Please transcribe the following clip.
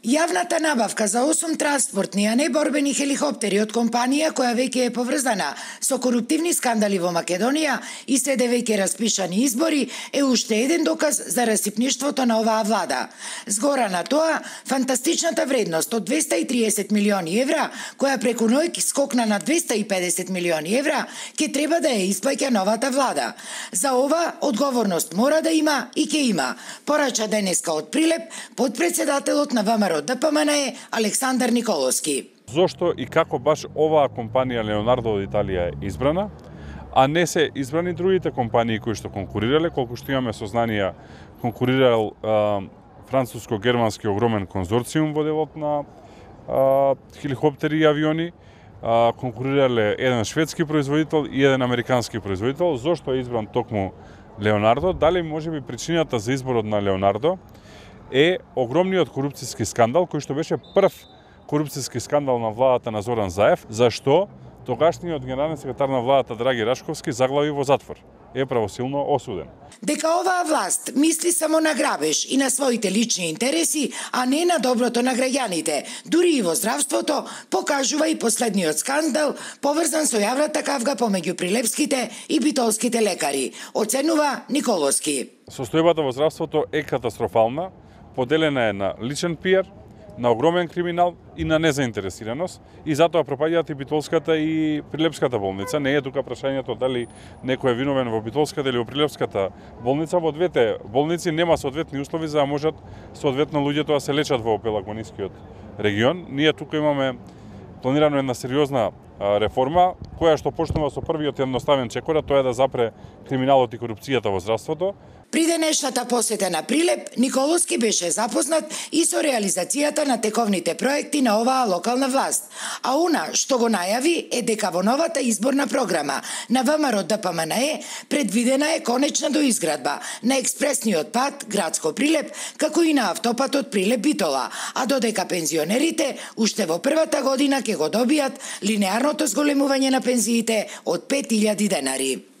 Јавната набавка за 8 транспортни, а не борбени хеликоптери од компанија која веќе е поврзана со коруптивни скандали во Македонија и следе веќе распишани избори е уште еден доказ за расипништвото на оваа влада. Згора на тоа, фантастичната вредност од 230 милиони евра, која преку ноќ скокна на 250 милиони евра, ќе треба да ја исплаќа новата влада. За ова одговорност мора да има и ќе има, порача денеска од Прилеп подпредседателот на ВМРО ДПМН е Александар Николовски. Зошто и како баш оваа компанија Леонардо од Италија е избрана, а не се избрани другите компании кои што конкурирале, колку што имаме сознанија, конкурирал француско-германски огромен конзорциум во делот на хеликоптери и авиони, конкурирале еден шведски производител и еден американски производител. Зошто е избран токму Леонардо? Дали можеби причината за изборот на Леонардо е огромниот корупцијски скандал, кој што беше прв корупцијски скандал на владата на Зоран Заев, зашто тогашниот генерален секретар на владата Драги Рашковски заглави во затвор. Е правосилно осуден. Дека оваа власт мисли само на грабеж и на своите лични интереси, а не на доброто на граѓаните, дури и во здравството, покажува и последниот скандал поврзан со јавната кавга помеѓу прилепските и битолските лекари, оценува Николовски. Состојбата во здравството е катастрофална, поделена е на личен пиар, на огромен криминал и на незаинтересираност, и затоа пропаѓаат и Битолската и Прилепската болница. Не е тука прашањето дали некој е виновен во Битолската или во Прилепската болница. Во двете болници нема соодветни услови за да можат соодветно луѓето да се лечат во Пелагонискиот регион. Ние тука имаме планирано една сериозна реформа, која што почнува со првиот едноставен чекор, тоа е да запре криминалот и корупцијата во здравството. При денешната посета на Прилеп, Николовски беше запознат и со реализацијата на тековните проекти на оваа локална власт. А она што го најави е дека во новата изборна програма на ВМРО ДПМН предвидена е конечна доизградба на експресниот пат градско Прилеп, како и на автопатот Прилеп-Битола, а додека пензионерите уште во првата година ќе го добијат линеарното зголемување на пензиите од 5000 денари.